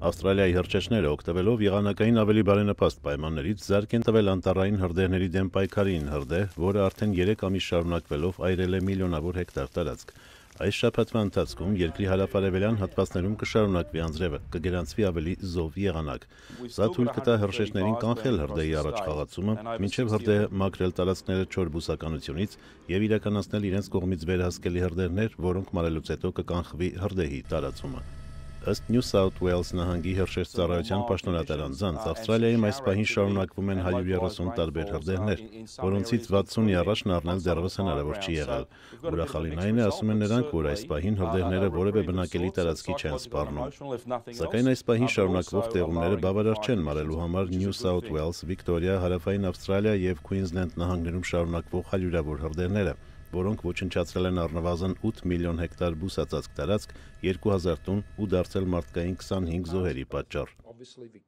Ավստրալիայի հրճեջները օգտվելով եղանակային ավելի բարենպաստ պայմաններից զարկ են տվել անտառային հրդեհների դեմ պայքարին հրդեհ, որը արդեն 3 ամիս շարունակվելով այրել է միլիոնավոր հեկտար տարածք։ Այս շաբաթվա ընթացքում երկրի հարավ-արևելյան հատվածներում կշարունակվի անձրևը, կգերանցվի ավելի զով եղանակ։ Սա թույլ կտա հրշեջներին կանխել հրդեհի առաջխաղացումը, մինչև հրդեհը մաքրել տարածքները չոր բուսականությունից եւ իրականացնել իրենց կողմից վերահսկելի հրդեհներ, որոնք մարելուց հետո կկանխվի հրդեհի տարածումը։ Ըստ New South Wales նահանգի հրշեջ ծառայության պաշտոնատար անձանց, Ավստրալիայում այս պահին շարունակվում են 130 տարբեր հրդեհներ, որոնցից 60-ի առաջն առնել դեռևս հնարավոր չի եղել։ Ուրախալին այն է, ասում են նրանք, որ այս պահին հրդեհները որևէ բնակելի տարածքի չեն սպառնում։ Սակայն այս պահին շարունակվող տեղումները բավարար չեն մարելու համար New South Wales, Վիկտորիա, Հարավային Ավստրալիա եւ Queensland նահանգներում շարունակվող հարյուրավոր հրդեհները, որոնք ոչնչացրել են առնվազն 8 միլիոն հեկտար բուսածածկ տարածք, 2000 տուն ու դարձել մարդկային 25 զոհերի պատճառ։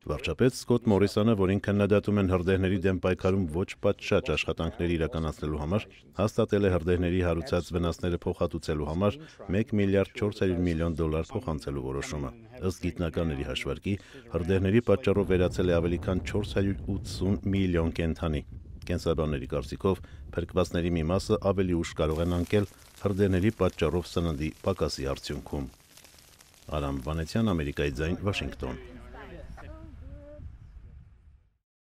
Վարչապետ Սկոտ Մորիսոնը, որին քննադատում են հրդեհների դեմ պայքարում ոչ պատշաճ աշխատանքներ իրականացնելու համար, հաստատել է հրդեհների հարուցած վնասները փոխհատուցելու համար $1 միլիարդ 400 միլիոն փոխանցելու որոշումը։ Ըստ գիտնականների հաշվարկի, հրդեհների պատճառով վերացել է ավելի քան 480 միլիոն կենդանի։ Կենսաբանների կարծիքով, փրկվածների մի մասը ավելի ուշ կարող են անկել հրդեհների պատճառով սննդի պակասի արդյունքում։ Արամ Վանեցյան, Ամերիկայի ձայն, Վաշինգտոն։